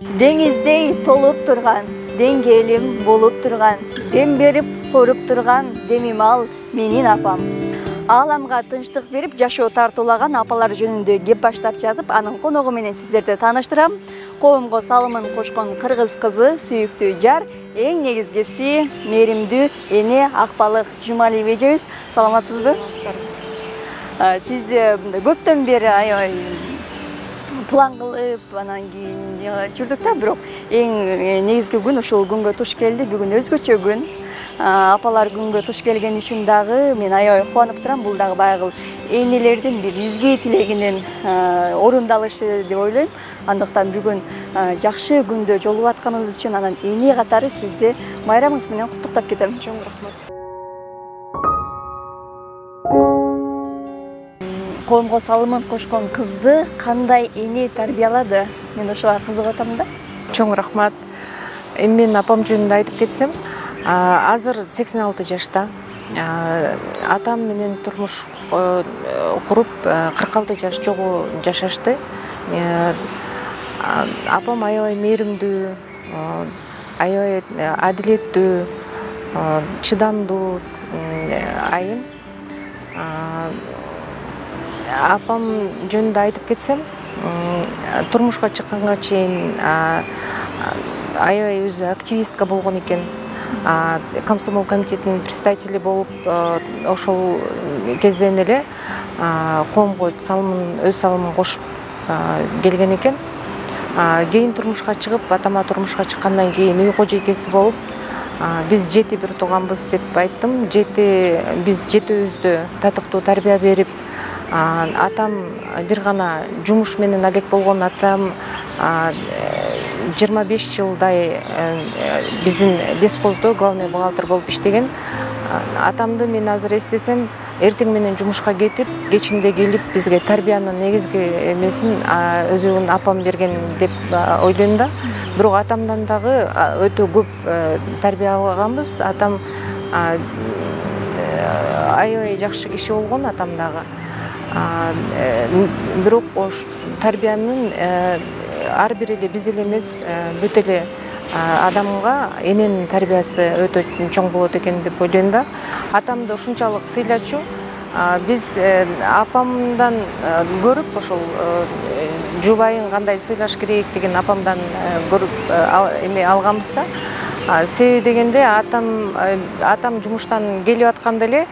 Деңиздей толуп турган, деңгээлим болуп турган, дем берип коруп турган демим ал менин апам. Ааламга тынчтык берип жашоо тартуулаган апалар жөнүндө кеп баштап жатып, анын коногу менен сиздерди тааныштырам. Коомго салымын кошкон кыргыз кызы, сүйүктүү жар, эң негизгиси мээримдүү эне Акбалык Жумалиева эжебиз. Саламатсызбы? Сизди көптөн бери аябай план кылып, анан кийин жүрдүк да, бирок эң негизги күн ушул күнгө туш келди. Бүгүн өзгөчө күн. Апалар күнгө туш келген үчүн дагы мен аябай кубанып турам. Бул дагы баягы энелердин бир изги тилегинин орундалышы деп ойлойм. Андыктан бүгүн жакшы күндө жолугуп атканыбыз үчүн анан эне катары сизди майрамыңыз менен куттуктап кетем. Чоң рахмат. Коомго салымын кошкон кызды кандай эне тарбиялады? Мен ошого кызыгып атам да. Чоң рахмат. Мен апам жөнүндө айтып кетсем, азыр 86 жашта. Атам менен турмуш куруп 46 жаш жогу жашашты. Апам аябай мээримдүү, аябай адилеттүү, чыдамдуу айым. Апам жөнүндө айтып кетсем, турмушка чыкканга чейин аябай өзү активистка болгон экен. Комсомол комитетинин председатели болуп, ошол кезден эле коомго өз салымын кошуп келген экен. Кийин турмушка чыгып, атама турмушка чыккандан кийин үй кожойкеси болуп, биз 7 бир тууганбыз деп айттым. Биз жетөөбүздө татыктуу тарбия берип, атам бир гана жумуш менен алек болгон. Атам 25 жылдай биздин лесхоздо главный бухгалтер болуп иштеген. Атамды мен азыр эстесем, эртең менен жумушка кетип, кечинде келип бизге тарбиянын негизги эмесин өзүнүн апам берген деп ойлойм да. Бирок атамдан дагы өтө көп тарбия алганбыз. Атам аябай жакшы киши болгон, атам дагы. Бирок ош тарбиянын ар бир эле биз эле эмес, бүт эле адамга эненин тарбиясы өтө чоң болот экен деп ойлойм да. Атамды ушунчалык сыйлачу, биз апамдан көрүп, ошол жубайын кандай сыйлаш керек деген апамдан көрүп эме алганбыз да. Себеби дегенде атам жумуштан келип атканда эле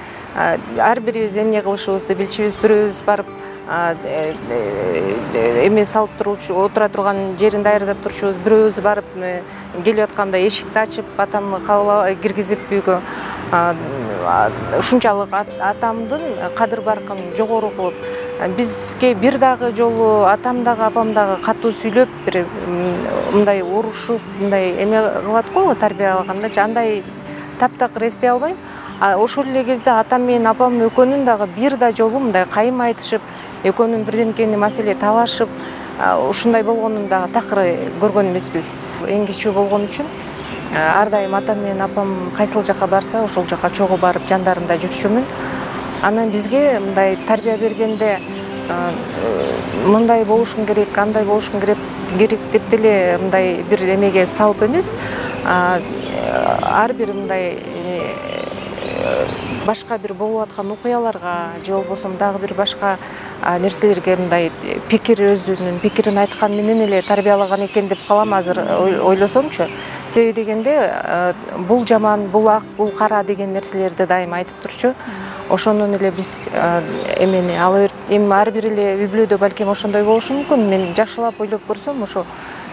ар бирибиз эмне кылышыбызды билчүбүз. Бирөөбүз барып эме салып турчу, отура турган жерин даярдап турчубуз. Бирөөбүз барып келип атканда эшикти ачып, атамды кабыл киргизип үйгө. Ушунчалык атамдын кадыр баркын жогору кылып, бизге бир дагы жолу атам дагы апам дагы катуу сүйлөп, бир мындай урушуп, мындай эме кылат го тарбия алгандачы, андай таптакыр эстей албайм. Ошол эле кезде атам менен апам экөөнүн дагы бир да жолу мындай кайым айтышып, экөөнүн бирдемкени маселе талашып, ушундай болгонун дагы такыр көргөн эмеспиз. Эң кичүү болгон үчүн ар дайым атам менен апам кайсыл жака барса, ошол жака чогуу барып жандарында жүрчүмүн. Анан бизге мындай тарбия бергенде мындай болушуң керек, андай болушуң керек деп деле мындай бир эмеге салып эмес, ар бир мындай башка бир болуп аткан окуяларга же болбосо дагы бир башка нерселерге мындай өзүнүн пикирин айткан менен эле тарбиялаган экен деп калам азыр ойлосомчу. Себеби дегенде бул жаман, бул ак, бул кара деген нерселерди дайым айтып турчу. Ошондон эле биз эмени алып эми ар бир эле үй бүлөдө балким ошондой болушу мүмкүн. Мен жакшылап ойлоп көрсөм, ошо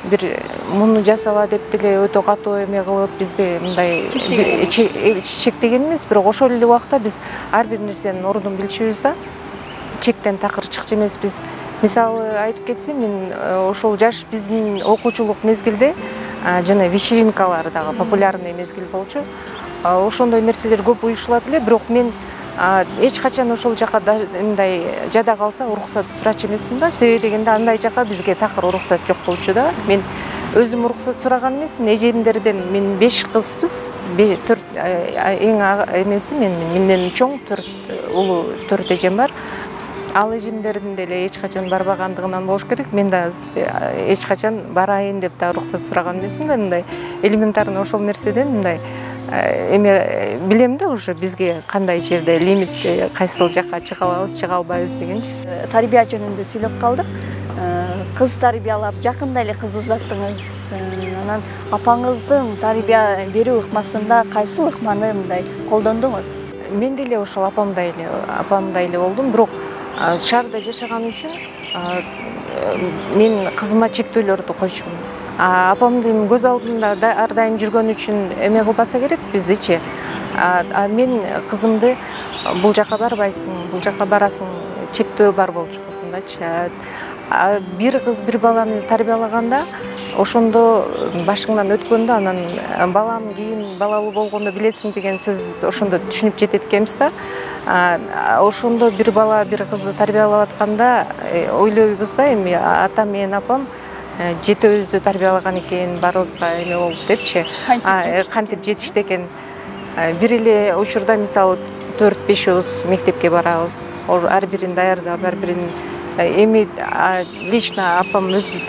бир муну жасаба деп деле өтө катуу эме кылып бизди мындай чектеген эмес, бирок ошол эле убакта биз ар бир нерсенин ордун билчүбүз да. Чектен такыр чыкчу эмеспиз. Мисалы айтып кетсем, мен ошол жаш биздин окуучулук мезгилде жана вечеринкалар дагы популярный мезгил болчу. Ошондой нерселер көп уюшулат эле, бирок мен эч качан ошол жака мындай жада калса уруксат сурачу эмесмин да. Себеби дегенде андай жака бизге такыр уруксат жок болчу да. Мен өзүм уруксат сураган эмесмин. Эжемдерден мен 5 кызбыз. 4 эң эмеси менден чоң 4 улуу 4 эжем бар. ал эжемдердин деле эч качан барбагандыгынан болуш керек. Мен да эч качан барайын деп да уруксат сураган эмесмин да, мындай элементарный ошол нерседен мындай эме билем да уже бизге кандай жерде лимит, кайсыл жакка чыга алабыз, чыга албайбыз дегенчи. Тарбия жөнүндө сүйлөп калдык. Кыз тарбиялап, жакында эле кыз узаттыңыз. Анан апаңыздын тарбия берүү ыкмасында кайсыл ыкманы мындай колдондуңуз? Мен деле ошол апамдай эле болдум, бирок шаарда жашаган үчүн мен кызыма чектөөлөрдү койчумун. Апамдын көз алдында ар дайым жүргөн үчүн эме кылбаса керек биздичи. Мен кызымды бул жака барбайсың, бул жака барасың, чектөө бар болчу кызымдачы. Бир кыз бир баланы тарбиялаганда ошондо башыңдан өткөндө анан балам кийин балалуу болгондо билесиң деген сөз ошондо түшүнүп жетет экенбиз да. Ошондо бир бала бир кызды тарбиялап атканда ойлойбуз да, эми атам менен апам жетөөбүздү тарбиялаган экен, баарыбызга эме болуп депчи. Кантип жетишти экен. Бир эле учурда мисалы 4-5 мектепке барабыз. Ар бирин даярдап, ар бирин эми лично апам өзү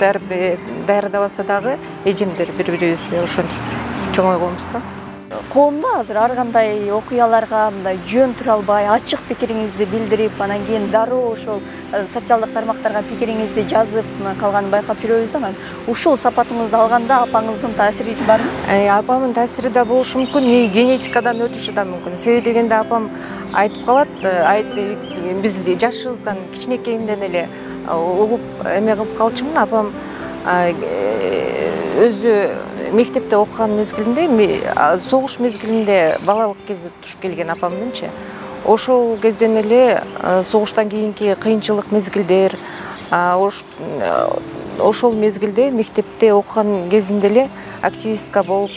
даярдабаса дагы эжемдер бири-бирибизди ошентип чоңойгонбуз да. Коомдо азыр ар кандай окуяларга мындай жөн тура албай, ачык пикириңизди билдирип, анан кийин дароо ошол социалдык тармактарга пикириңизди жазып калганын байкап жүрөбүз да. Ушул сапатыңызды алганда апаңыздын таасири барбы? Апамдын таасири да болушу мүмкүн, генетикадан өтүшү да мүмкүн. Себеби дегенде апам айтып калат, биз жашыбыздан кичинекейимден эле угуп эме кылып калчумун. Апам өзү мектепте окуган мезгилинде, согуш мезгилинде балалык кези туш келген апамдынчы. Ошол кезден эле согуштан кийинки кыйынчылык мезгилдер, ошол мезгилде мектепте окуган кезинде эле активистка болуп,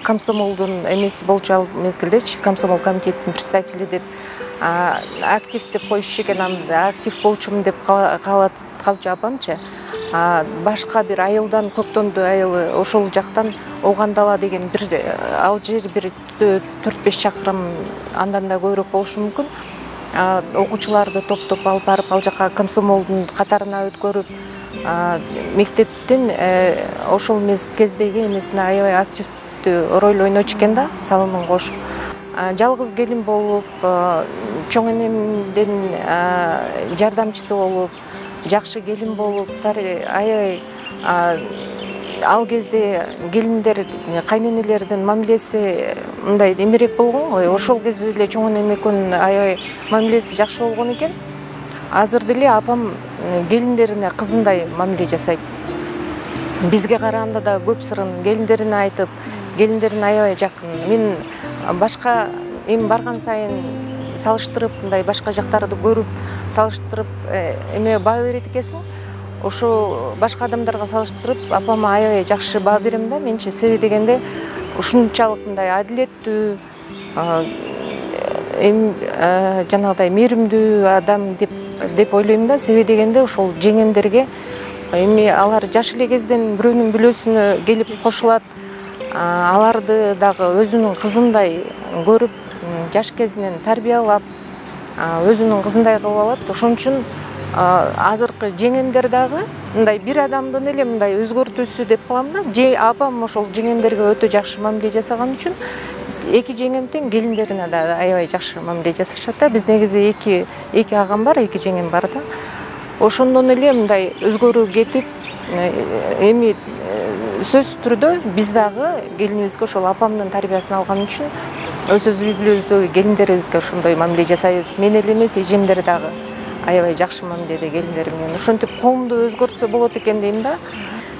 комсомолдун эмеси болчу ал мезгилдечи, комсомол комитетинин председатели деп актив деп коюшу экен, анда актив болчумун деп калчу апамчы. Башка бир айылдан, Көктөндү айылы, ошол жактан Огандала деген бир ал жер бир 4-5 чакырым, андан да көбүрөөк болушу мүмкүн. Окуучуларды топтоп алып барып ал жака комсомолдун катарына өткөрүп, мектептин ошол кездеги эмесине аябай активдүү роль ойночу экен да, салымын кошуп. Жалгыз келин болуп, чоң энемдин жардамчысы болуп, жакшы келин болуп, аябай ал кезде келиндер, кайненелердин мамилеси мындай эмерээк болгон го. Ошол кезде эле чоң энем экөөнүн аябай мамилеси жакшы болгон экен. Азыр деле апам келиндерине кызындай мамиле жасайт. Бизге караганда да көп сырын келиндерине айтып, келиндерине аябай жакын. Мен башка эми барган сайын салыштырып, мындай башка жактарды көрүп, салыштырып эме баа берет экенсиң. Ошо башка адамдарга салыштырып, апама аябай жакшы баа берем да менчи. Себеби дегенде ушунчалык мындай адилеттүү, жанагыдай мээримдүү адам деп ойлойм да. Себеби дегенде ошол жеңемдерге эми алар жаш эле кезден бирөөнүн бүлөсүнө келип кошулат, аларды дагы өзүнүн кызындай көрүп, жаш кезинен тарбиялап, өзүнүн кызындай кылып алат. Ошон үчүн азыркы жеңемдер дагы мындай бир адамдын эле мындай өзгөртүүсү деп калам да. Апам ошол жеңемдерге өтө жакшы мамиле жасаган үчүн эки жеңем тең келиндерине да аябай жакшы мамиле жасашат да. Биз негизи эки агам бар, эки жеңем бар да. Ошондон эле мындай өзгөрүү кетип, эми сөзсүз түрдө биз дагы келинибизге ошол апамдын тарбиясын алган үчүн өз үй бүлөбүздөгү келиндерибизге ошондой мамиле жасайбыз. Мен эле эмес, эжемдер дагы аябай жакшы мамиледе келиндери менен. Ошентип коомду өзгөртсө болот экен дейм да.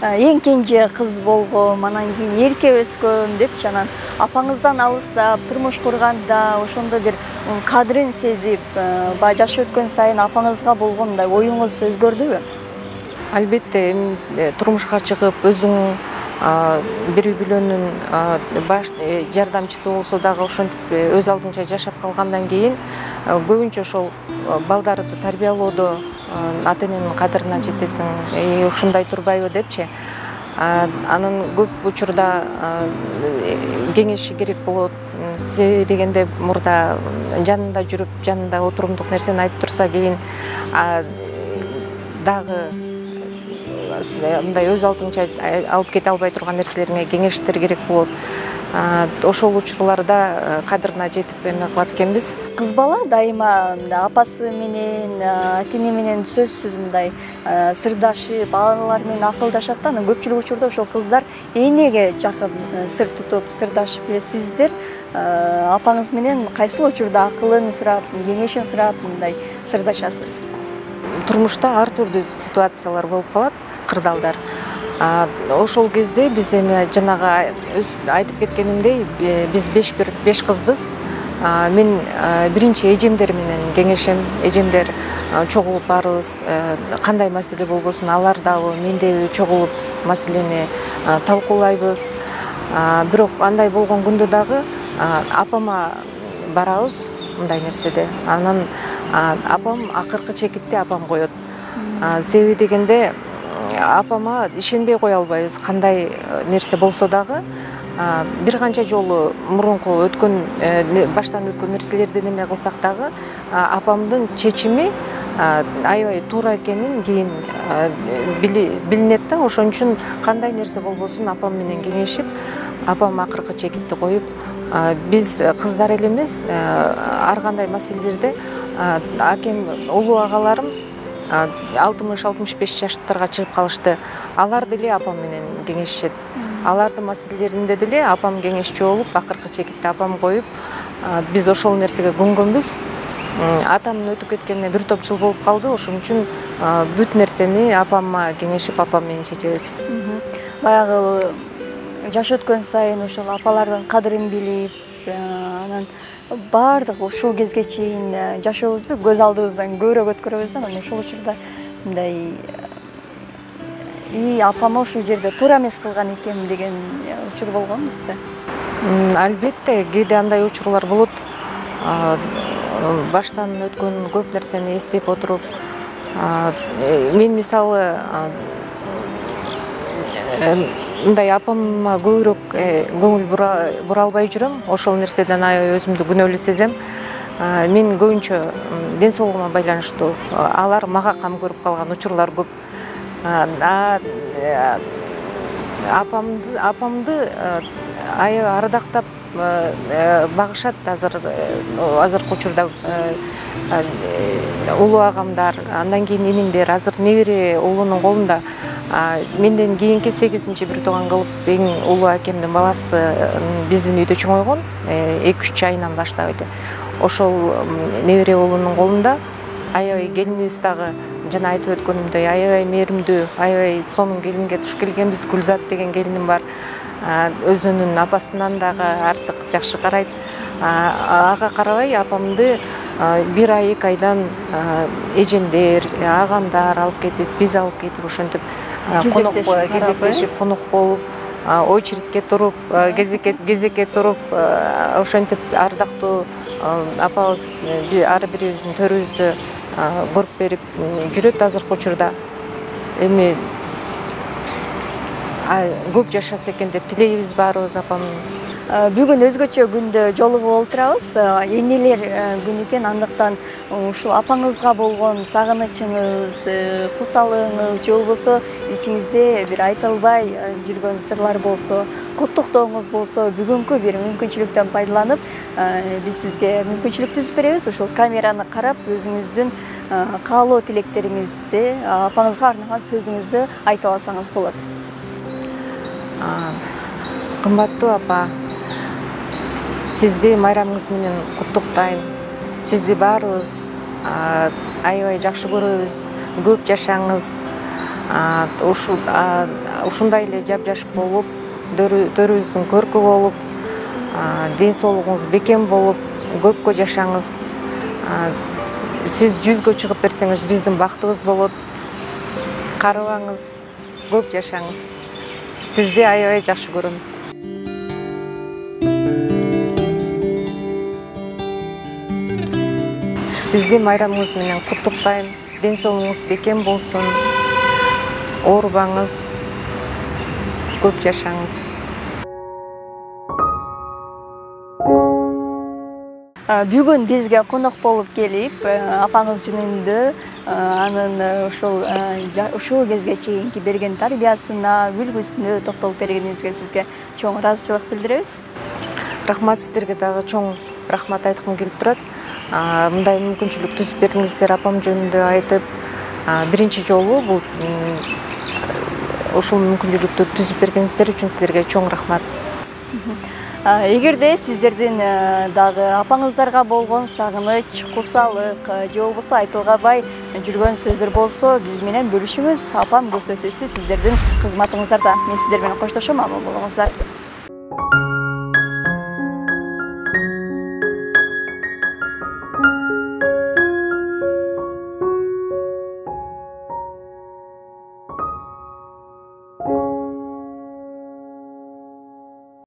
Эң кенже кыз болгом, анан кийин эрке өскөм депчи, анан апаңыздан алыстап турмуш курганда ошондо бир кадырын сезип, баягы жаш өткөн сайын апаңызга болгон мындай оюңуз өзгөрдүбү? Албетте, эми турмушка чыгып, өзүң бир үй бүлөнүн жардамчысы болсо дагы ошентип өз алдынча жашап калгандан кийин көбүнчө ошол балдарды тарбиялоодо ата эненин кадырына жетесиң, ушундай турбайбы депчи. Анын көп учурда кеңеши керек болот, себеби дегенде мурда жанында жүрүп жанында отурумдук нерсени айтып турса кийин дагы мындай өз алдынча алып кете албай турган нерселериңе кеңештер керек болот. Ошол учурларда кадырына жетип эме кылат экенбиз. Кыз бала дайыма апасы менен, ата-эне менен сөзсүз мындай сырдашып, алар менен акылдашат да. Анан көпчүлүк учурда ошол кыздар энеге жакын сыр тутуп, сырдашып эле. Сиздер апаңыз менен кайсыл учурда акылын сурап, кеңешин сурап мындай сырдашасыз? Турмушта ар түрдүү ситуациялар болуп калат, кырдаалдар. Ошол кезде биз эми жанагы айтып кеткенимдей, биз 5 кызбыз. Мен биринчи эжемдер менен кеңешем. Эжемдер чогулуп барыбыз, кандай маселе болбосун, алар дагы, мен дагы чогулуп маселени талкуулайбыз. Бирок андай болгон күндө дагы апама барабыз мындай нерседе. Анан апам акыркы чекитте апам коет. Себеби дегенде апама ишенбей кое албайбыз. Кандай нерсе болсо дагы бир канча жолу мурунку өткөн баштан өткөн нерселерди эме кылсак дагы апамдын чечими аябай туура экенин кийин билинет да. Ошон үчүн кандай нерсе болбосун апам менен кеңешип, апам акыркы чекитти коюп, биз кыздар эле эмес, ар кандай маселелерде акем улуу агаларым 60-65 жаштарга чыгып калышты. Алар деле апам менен кеңешишет. Алардын маселелеринде деле апам кеңешчү болуп, акыркы чекитте апам коюп, биз ошол нерсеге көнгөнбүз. Атамдын өтүп кеткенине бир топ жыл болуп калды. Ошон үчүн бүт нерсени апамма кеңешип, апам менен чечебиз. Баягы жаш өткөн сайын ошол апалардын кадырын билип, анан баардык ушул кезге чейин жашообузду көз алдыбыздан көбүрөөк өткөрөбүз да. Анан ошол учурда мындай апама ушул жерде туура эмес кылган экенмин деген учур болгонбуз да. Албетте, кээде андай учурлар болот. Баштан өткөн көп нерсени эстеп отуруп, мен мисалы мындай апама көбүрөөк көңүл бура албай жүрөм. Ошол нерседен аябай өзүмдү күнөөлүү сезем. Мен көбүнчө ден соолугума байланыштуу. Алар мага кам көрүп калган учурлар көп. Апамды аябай ардактап багышат азыркы учурда улуу агамдар, андан кийин энимдер, азыр небере уулунун колунда. Менден кийинки 8-чи бир тууган кылып эң улуу акемдин баласы биздин үйдө чоңойгон, 2-3 айынан баштап эле. Ошол небере уулунун колунда. Аябай келинибиз дагы жана айтып өткөнүмдөй аябай мээримдүү, аябай сонун келинге туш келгенбиз. Гүлзат деген келиним бар. Өзүнүн апасынан дагы артык жакшы карайт. Ага карабай апамды 1 ай 2 айдан эжемдер, агамдар алып кетип, биз алып кетип, ошентип кезектешип конок болуп, очередке туруп, кезекке туруп, ошентип ардактуу апабыз ар бирибиздин төрүбүздү көрүп берип жүрөт азыркы учурда. Эми көп жашаса экен деп тилейбиз баарыбыз апам. Бүгүн өзгөчө күндө жолугуп отурабыз. Энелер күнү экен, андыктан ушул апаңызга болгон сагынычыңыз, кусалыгыңыз же болбосо ичиңизде бир айта албай жүргөн сырлар болсо, куттуктооңуз болсо, бүгүнкү бир мүмкүнчүлүктөн пайдаланып, биз сизге мүмкүнчүлүк түзүп беребиз. Ушул камераны карап, өзүңүздүн каалоо тилектериңизди, апаңызга арнаган сөзүңүздү айта алсаңыз болот. Кымбаттуу апа, сизди майрамыңыз менен куттуктайм. Сизди баарыбыз аябай жакшы көрөбүз. Көп жашаңыз. Ушундай эле жап-жаш болуп, төрүбүздүн көркү болуп, ден соолугуңуз бекем болуп, көпкө жашаңыз. Сиз 100гө чыгып берсеңиз, биздин бактыбыз болот. Карыбаңыз, көп жашаңыз. Сизди аябай жакшы көрөм. Сизди майрамыңыз менен куттуктайм. Ден соолугуңуз бекем болсун. Оорубаңыз. Көп жашаңыз. бүгүн бизге конок болуп келип, апаңыз жөнүндө анын ушул кезге чейинки берген тарбиясына, үлгүсүнө токтолуп бергениңизге сизге чоң ыраазычылык билдиребиз. Рахмат, сиздерге дагы чоң рахмат айткым келип турат. Мындай мүмкүнчүлүк түзүп бердиңиздер, апам жөнүндө айтып. Биринчи жолу бул ушул мүмкүнчүлүктү түзүп бергениңиздер үчүн силерге чоң рахмат. Эгерде сиздердин дагы апаңыздарга болгон сагыныч, курсалык же болбосо айтылгабай жүргөн сөздөр болсо, биз менен бөлүшүңүз. Апам көрсөтүүсү сиздердин кызматыңыздарда. Мен сиздер менен коштошом, аман болуңуздар.